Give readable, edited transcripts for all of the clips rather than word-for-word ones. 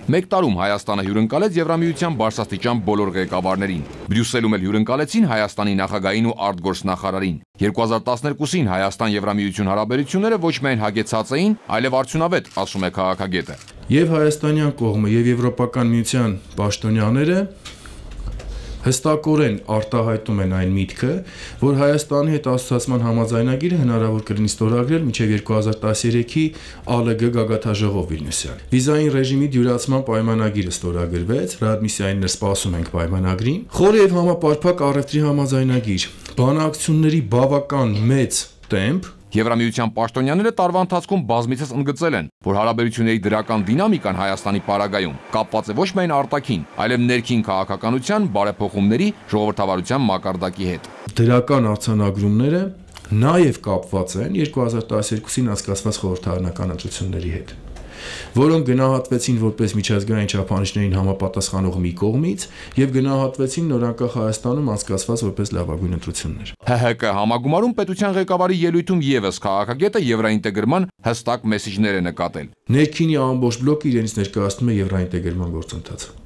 Մեկ տարում Հայաստանը հյուրընկալեց Եվրամիության բարձրաստիճան բոլոր ղեկավարներին։ Բրյուսելում էլ հյուրընկալեցին Հայաստանի նախագահին ու արտգործնախարարին։ 2012-ին Հայաստան-Եվրամիություն հարաբերությունները ոչ միայն հագեցած էին, այլև արդյունավետ, ասում է քաղաքագետը։ Եվ հայաստանյան կողմը եւ Եվրոպական միության պաշտոնյաները հստակորեն արտահայտում են այն միտքը, որ Հայաստանի հետ ասոցիացման համաձայնագիրը հնարավոր կլինի ստորագրել մինչև 2013-ի ԱԼԳ գագաթաժողով Վիլնյուսյան։ Վիզային ռեժիմի դյուրացման պայմանագիրը ստորագրվեց, ռեադմիսիային սպասում ենք պայմանագրին։ Խոր եւ համապարփակ առևտրի համաձայնագիր, բանակցությունների բավական մեծ տեմպ։ Եվրամիության պաշտոնյաները տարվա ընթացքում բազմիցս ընդգծել են, որ հարաբերությունների դրական դինամիկան Հայաստանի պարագայում կապված է ոչ միայն արտաքին, այլև ներքին քաղաքականության, բարեփոխումների, ժողովրդավարության մակարդակի հետ։ Դրական արձանագրումները նաև կապված են 2012-ին անցկացված խորհրդարանական ընտրությունների հետ, որոնք գնահատվեցին որպես միջազգային չափանիշներին համապատասխանող մի կողմից եւ գնահատվեցին նորանկախ Հայաստանում անցկացված որպես լավագույն ընտրություններ։ ՀՀԿ համագումարում պետության ղեկավարի ելույթում եւս քաղաքագետը եվրաինտեգրման հստակ մեսիջներ է նկատել։ Ներքինի ամբողջ բլոկը իրենից ներկայացնում է եվրաինտեգրման գործընթացը։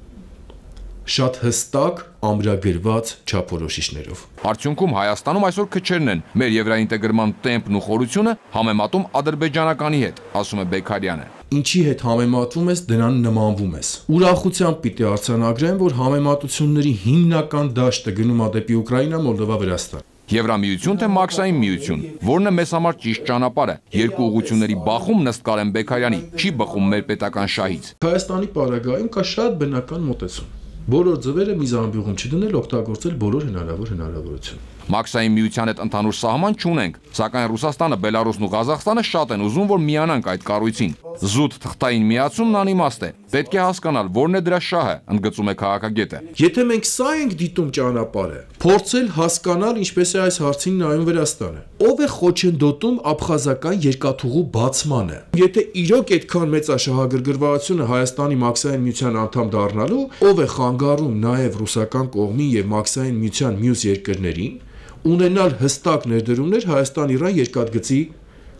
Շատ հստակ ամրագրված չափորոշիչներով։ Արդյունքում Հայաստանում այսօր քչերն են մեր եվրաինտեգրման տեմպն ու խորությունը համեմատում ադրբեջանականի հետ, ասում է Բեգարյանը։ Ինչի հետ համեմատվում ես, դրան նմանվում ես։ Ուրախությամբ պիտի արձանագրեմ, որ համեմատությունների հիմնական դաշտը գնում է դեպի Ուկրաինա, Մոլդովա, Վրաստան։ Եվրամիություն թե մաքսային միություն, որն է մեզ համար ճիշտ ճանապարհը։ Երկու ուղղությունների բախում ըստ Կարեն Բեգարյանի չի բխում մեր պետական շահից։ Հայաստանի պարագայում կա շատ բնական մոտեցում։ Բոլոր ձևերը մի զամբյուղում չդնել, օգտագործել բոլոր հնարավորություն։ Մաքսային միության հետ ընդհանուր սահման չունենք, սակայն Ռուսաստանը, Բելարուսն ու Ղազախստանը շատ են ուզում, որ միանանք այդ կառույցին։ Զուտ թղթային միացումն անիմաստ է։ Պետք է հասկանալ, որն է դրա շահը, ընդգծում է քաղաքագետը։ Եթե մենք սա ենք դիտում ճանապարհը, փորձել հասկանալ ինչպես է այս հարցին նայում Վրաստանը։ Ով է խոչընդոտում աբխազական երկաթուղու բացմանը։ Եթե իրոք այդքան մեծ է շահագրգռվածությունը Հայաստանի մաքսային միության անդամ դառնալու, ով է խանգարում նաև ռուսական կողմին եւ մաքսային միության մյուս երկրներին ունենալ հստակ ներդրումներ Հայաստան-Իրան երկաթգծի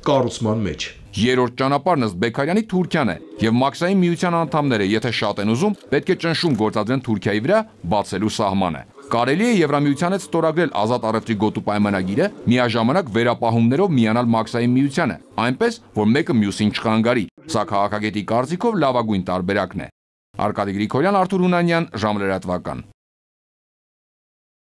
կառուցման մեջ։ Երրորդ ճանապարհն ըստ Բեգարյանի Թուրքիան է, եւ մաքսային միության անդամները, եթե շատ են ուզում, պետք է ճնշում գործադրեն Թուրքիայի վրա բացելու սահմանը։ Կարելի է Եվրամիության հետ ստորագրել ազատ առևտրի գոտու պայմանագիրը, միաժամանակ վերապահումներով միանալ մաքսային միությանը, այնպես, որ մեկը մյուսին չխանգարի։ Սա քաղաքագետի կարծիքով լավագույն տարբերակն է։ Արկադի Գրիգորյան, Արթուր Հունանյան, ժամլրատվական։